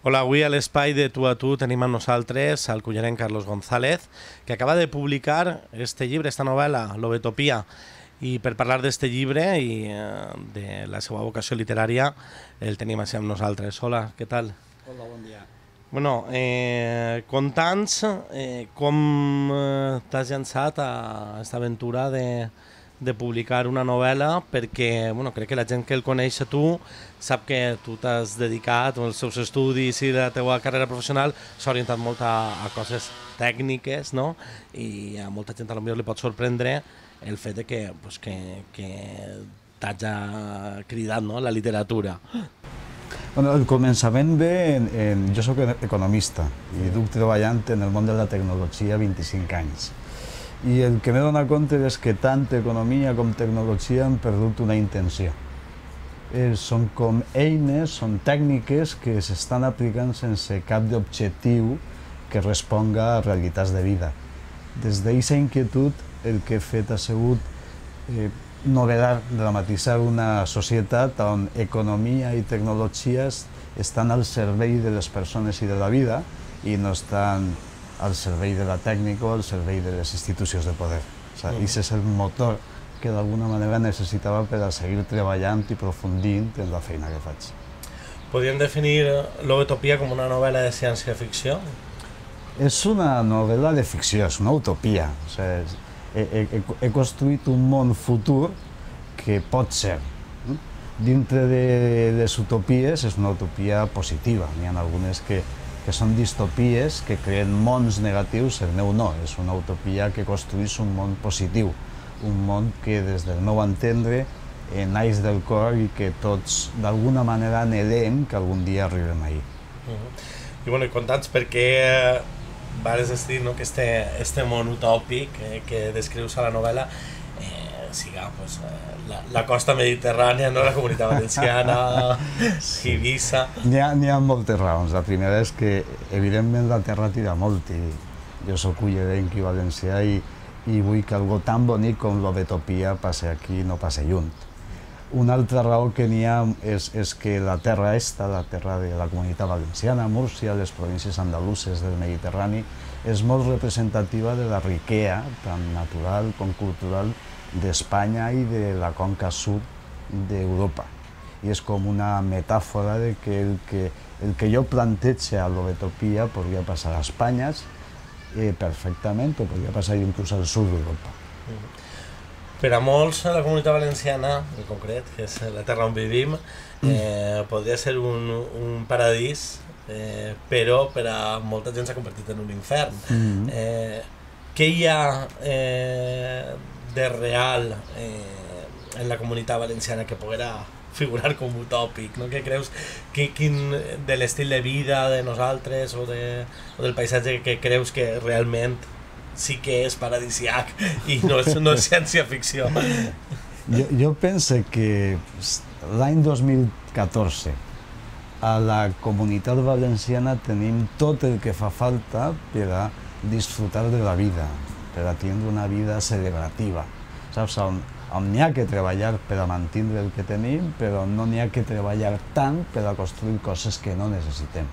Hola, avui a l'espai de Tu a Tu tenim amb nosaltres el cullerenc Carlos González, que acaba de publicar este llibre, esta novel·la, L'Ovetopia. I per parlar d'este llibre i de la seva vocació literària el tenim així amb nosaltres. Hola, què tal? Hola, bon dia. Bueno, conta'ns com t'has llançat a aquesta aventura de publicar una novel·la, perquè crec que la gent que el coneix a tu sap que tu t'has dedicat, els teus estudis i la teva carrera professional s'ha orientat molt a coses tècniques, no? I a molta gent potser li pot sorprendre el fet de que t'hagi cridat, no?, la literatura. Bueno, el començament ve... Jo soc economista i duc treballant en el món de la tecnologia 25 anys. I el que m'he donat compte és que tant economia com tecnologia han perdut una intenció. Són com eines, són tècniques que s'estan aplicant sense cap d'objectiu que responga a realitats de vida. Des d'aquesta inquietud el que he fet ha sigut novelar, dramatitzar una societat on economia i tecnologies estan al servei de les persones i de la vida i no estan al servei de la tècnica o al servei de les institucions de poder. Aquest és el motor que d'alguna manera necessitava per a seguir treballant i aprofundint en la feina que faig. Podríem definir L'Ovetopia com una novel·la de ciència-ficció? És una novel·la de ficció, és una utopia. He construït un món futur que pot ser. Dintre de les utopies és una utopia positiva. N'hi ha algunes que són distopies, que creen mons negatius. El meu no, és una utopia que construeix un món positiu, un món que des del meu entendre naix del cor i que tots d'alguna manera anhelem que algun dia arribem ahir. I conta'ns per què vas decidir que este món utòpic que descrius a la novel·la siga la costa mediterrània, la Comunitat Valenciana, Eivissa... N'hi ha moltes raons. La primera és que, evidentment, la terra tira molt i jo soc cullerenc i valencià i vull que algo tan bonic com l'Ovetopia passi aquí i no passi lluny. Una altra raó que n'hi ha és que la terra esta, la terra de la Comunitat Valenciana, Múrcia, les províncies andaluses del Mediterrani, és molt representativa de la riquesa, tant natural com cultural, d'Espanya i de la conca sud d'Europa. I és com una metàfora de que el que jo plantejo a l'Ovetopia podria passar a Espanya perfectament o podria passar inclús al sud d'Europa. Per a molts, la Comunitat Valenciana, en concret, que és la terra on vivim, podria ser un paradís, però per a molta gent s'ha convertit en un infern. Què hi ha de real en la Comunitat Valenciana que poguera figurar com utòpic? Què creus de l'estil de vida de nosaltres o del paisatge que creus que realment sí que és paradisiac i no és ciència-ficció? Jo penso que l'any 2014 a la Comunitat Valenciana tenim tot el que fa falta per a disfrutar de la vida, per a tindre una vida celebrativa. Saps? On n'hi ha que treballar per a mantenir el que tenim, però no n'hi ha que treballar tant per a construir coses que no necessitem.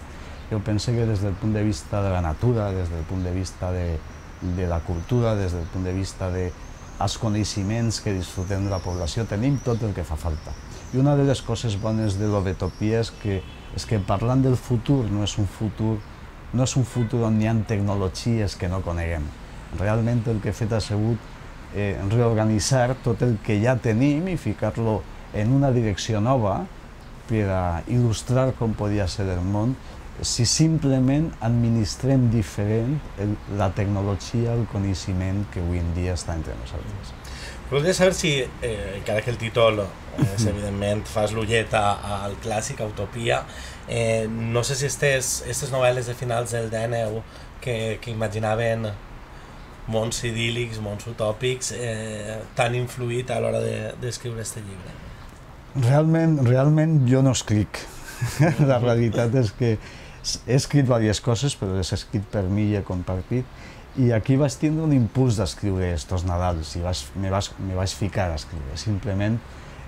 Jo penso que des del punt de vista de la natura, des del punt de vista de la cultura, des del punt de vista dels coneixements que disfrutem de la població, tenim tot el que fa falta. I una de les coses bones de l'Ovetopia és que parlant del futur no és un futur on hi ha tecnologies que no coneguem. Realment el que he fet ha sigut reorganitzar tot el que ja tenim i ficar-lo en una direcció nova per a il·lustrar com podia ser el món si simplement administrem diferent la tecnologia, el coneixement que avui en dia està entre nosaltres. Voldria saber si, encara que el títol evidentment fas l'ullet al clàssic, a Utopia, no sé si aquestes novel·les de finals del XIX que imaginaven mons idíl·lics, mons utòpics, t'han influït a l'hora d'escriure aquest llibre? Realment jo no escric. La realitat és que he escrit diverses coses, però les he escrit per mi i he compartit. I aquí vaig tindre un impuls d'escriure estos Nadals i me vaig ficar a escriure. Simplement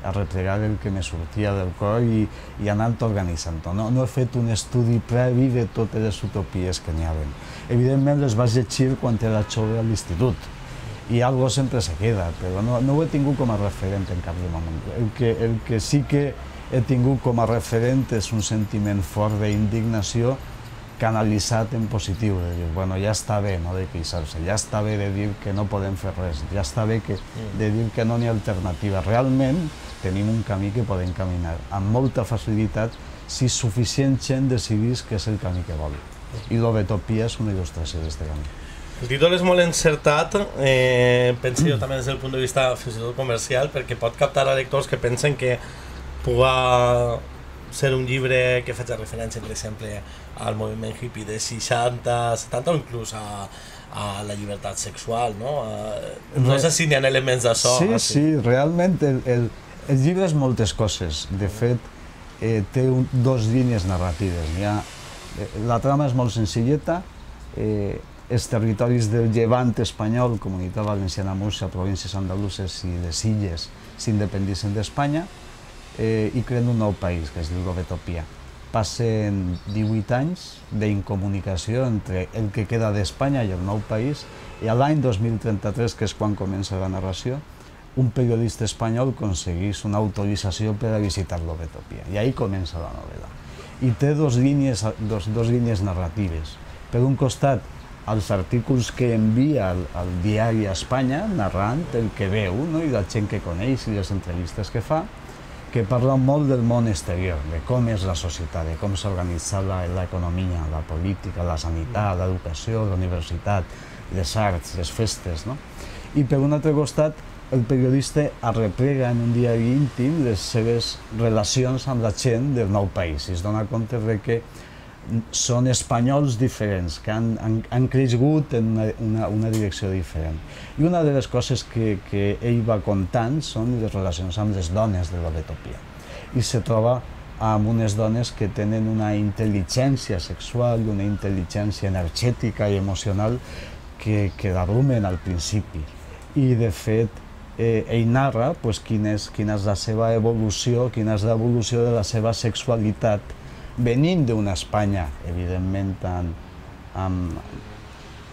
arreplegar el que me sortia del cor i anant organitzant-ho. No he fet un estudi previ de totes les utopies que n'hi havia. Evidentment les vaig llegir quan era jove a l'institut i algo sempre se queda, però no ho he tingut com a referent en cap moment. El que sí que he tingut com a referent és un sentiment fort d'indignació canalitzat en positiu, de dir, bueno, ja està bé no de queixar-se, ja està bé de dir que no podem fer res, ja està bé de dir que no n'hi ha alternativa. Realment tenim un camí que podem caminar amb molta facilitat si suficient gent decidís que és el camí que vol. I l'Ovetopia és una il·lustració d'aquest camí. El títol és molt encertat, penso jo també des del punt de vista fins i tot comercial, perquè pot captar a lectors que pensen que puga ser un llibre que faci referència, per exemple, al moviment hippie de 60, 70 o inclús a la llibertat sexual, no? No sé si n'hi ha elements d'això. Sí, realment el llibre és moltes coses. De fet, té dos línies narratives. La trama és molt senzilleta, els territoris del llevant espanyol, Comunitat Valenciana, Múrcia, províncies andaluses i les illes s'independitzen d'Espanya i creen un nou país, que es diu l'Ovetopia. Passen 18 anys d'incomunicació entre el que queda d'Espanya i el nou país i a l'any 2033, que és quan comença la narració, un periodista espanyol aconsegueix una autorització per a visitar l'Ovetopia i ahí comença la novel·la. I té dos línies narratives. Per un costat, els artículos que envia al diari a Espanya, narrant el que veu i la gent que coneix i les entrevistes que fa, que parla molt del món exterior, de com és la societat, de com s'ha organitzat l'economia, la política, la sanitat, l'educació, la universitat, les arts, les festes. I per un altre costat, el periodista arreplega en un diari íntim les seves relacions amb la gent del nou país i es dona compte que són espanyols diferents, que han crescut en una direcció diferent. I una de les coses que ell va contant són les relacions amb les dones de l'Ovetopia. I se troba amb unes dones que tenen una intel·ligència sexual, una intel·ligència energètica i emocional que l'abrumen al principi. I, de fet, ell narra quina és la seva evolució, quina és l'evolució de la seva sexualitat venint d'una Espanya, evidentment, amb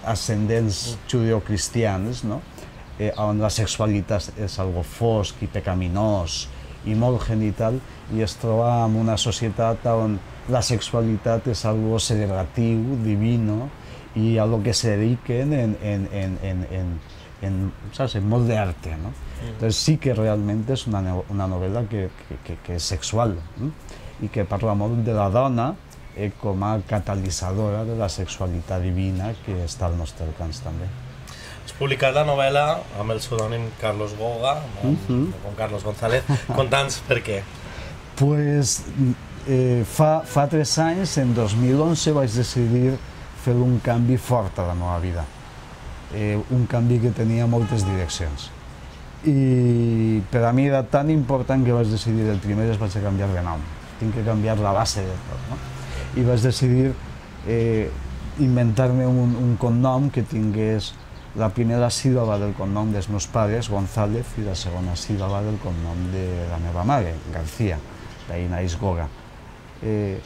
ascendents judeocristians, on la sexualitat és algo fosc i pecaminós i molt genital, i es troba en una societat on la sexualitat és algo celebratiu, divino, i a lo que se dediquen en molt d'arte. Entonces sí que realment és una novel·la que és sexual i que parla molt de la dona com a catalitzadora de la sexualitat divina que està al nostre alcance també. Has publicat la novel·la amb el pseudònim Carlos Goga, com Carlos González. Conta'ns per què. Fa 3 anys, en 2011, vaig decidir fer un canvi fort a la meva vida. Un canvi que tenia moltes direccions. I per a mi era tan important que vaig decidir el primer vaig canviar de nom. Tinc que canviar la base de tot. I vaig decidir inventar-me un cognom que tingués la primera síl·laba del cognom dels meus pares, González, i la segona síl·laba del cognom de la meva mare, García, d'ahir naix Goga. I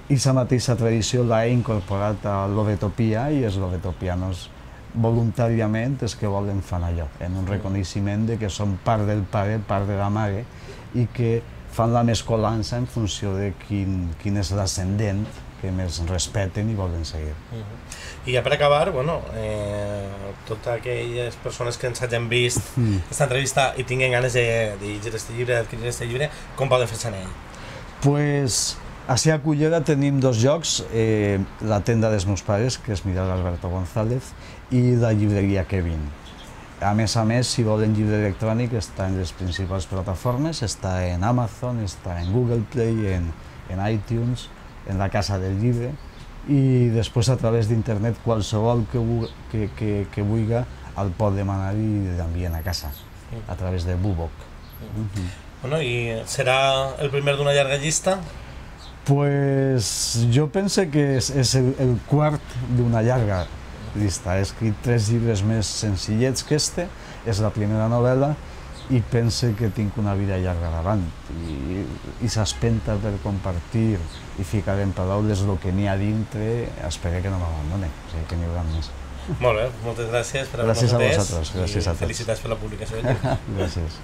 aquesta mateixa tradició l'he incorporat a l'Ovetopia i els ovetopianos voluntàriament els que volen fan allò, en un reconeixement que són part del pare, part de la mare, i que fan la mescolança en funció de quin és l'ascendent que més respeten i volen seguir. I ja per acabar, totes aquelles persones que ens hagin vist aquesta entrevista i tinguin ganes de llegir aquest llibre, d'adquirir aquest llibre, com poden fer-se en ell? Pues, ací a Cullera tenim 2 llocs, la tenda dels meus pares, que és Mirar Alberto González, i la llibreria Kevin. A més, si volen llibre electrònic, està en les principals plataformes, està en Amazon, està en Google Play, en iTunes, en la Casa del Llibre, i després a través d'internet qualsevol que vulgui el pot demanar i l'envien a casa, a través de Bubok. I serà el primer d'una llarga llista? Pues jo penso que és el quart d'una llarga llista. He escrit 3 llibres més senzillets que este, és la primera novel·la, i pense que tinc una vida llarga davant i s'espenta per compartir i ficar en paraules el que n'hi ha dintre, espero que no m'abandone, o sigui que n'hi haurà més. Molt bé, moltes gràcies per haver-nos Gràcies a atès vosaltres, gràcies a tots. Felicitats per la publicació del llibre. Gràcies.